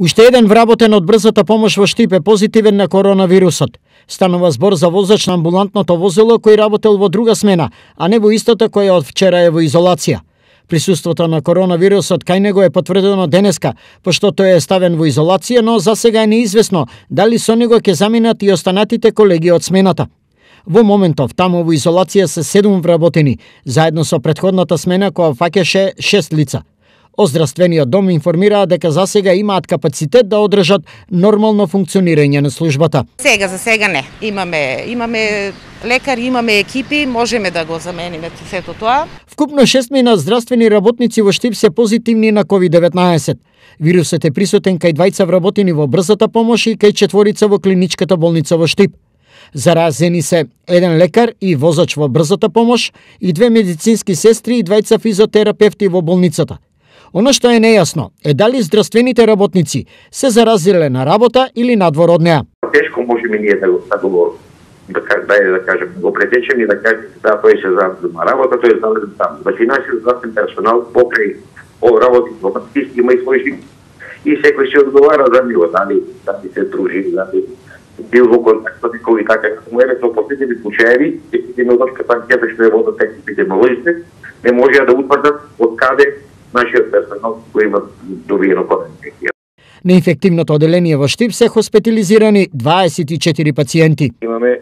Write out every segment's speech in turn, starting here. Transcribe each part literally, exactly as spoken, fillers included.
Уште еден вработен од брзата помош во Штип е позитивен на коронавирусот. Станува збор за возач на амбулантното возило кој работел во друга смена, а не во истата која од вчера е во изолација. Присуството на коронавирусот кај него е потврдено денеска, пошто тој е ставен во изолација, но за сега е неизвестно дали со него ќе заминат и останатите колеги од смената. Во моментов таму во изолација се седум вработени, заедно со претходната смена која фаќаше шест лица. Оздравствениот дом информираа дека за сега имаат капацитет да одржат нормално функционирање на службата. Сега за сега не. Имаме имаме лекари, имаме екипи, можеме да го замениме сето тоа. Вкупно шестмина здравствени работници во Штип се позитивни на ковид деветнаесет. Вирусот е присутен кај двајца вработени во брзата помош и кај четворица во клиничката болница во Штип. Заразени се еден лекар и возач во брзата помош и две медицински сестри и двајца физиотерапевти во болницата. Оно што е нејасно е дали здравствените работници се заразиле на работа или надвор од неа. Тешко можеме ние да го да го да, да, да кажем, го претечеме и да кажем да тој се заразил на работа, тој е заразил таму. Значи нашиот здравствен персонал покрај о работи во патисти има и свој живот. И секој се одговара за него, дали дали се дружи, дали бил во контакт со некој и така. Му е со последните случаи, епидемиолошката анкета што е водат епидемиолозите, не можеа да утврдат од каде нашиот персонал кој има добиено коронавирус. На инфективното оделение во Штип се хоспитализирани дваесет и четири пациенти. Имаме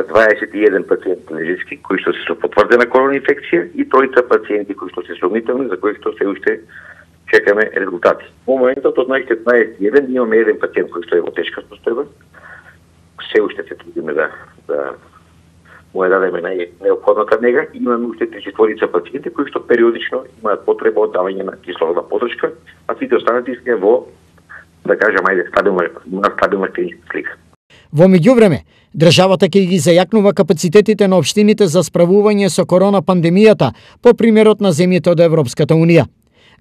дваесет и еден пациенти лежички кои што се со потврдена корона инфекција и тројца пациенти кои што се сомнителни за кои што се уште чекаме резултати. Во моментот од најдесет и еден имаме еден пациент кој што е во тешка состојба. Се уште се трудиме да да му ја дадеме најнеопходната нега. Имаме уште три-четворица пациенти кои што периодично имаат потреба од давање на кислородна подршка, а сите останати се во, да кажам, ајде, стабилна, стабилна клиничка слика. Во меѓувреме, државата ќе ги зајакнува капацитетите на општините за справување со корона пандемијата по примерот на земјите од Европската унија.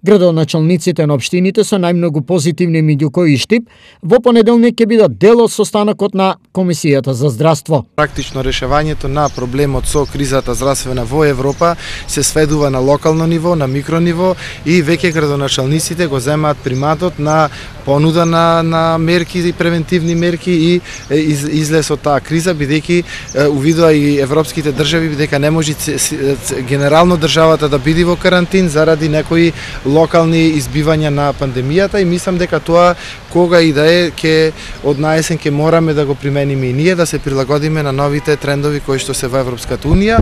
Градоначалниците на општините со најмногу позитивни меѓу кои Штип во понеделник ќе бидат дел од состанокот на Комисијата за здравство. Практично решавањето на проблемот со кризата здравствена во Европа се сведува на локално ниво, на микрониво и веќе градоначалниците го земаат приматот на понуда на на мерки и превентивни мерки и из, излез од таа криза, бидејќи увидува и европските држави дека не може генерално државата да биде во карантин заради некои локални избивања на пандемијата и мислам дека тоа кога и да е ќе од наесен ќе мораме да го примениме и ние да се прилагодиме на новите трендови кои што се во Европската унија.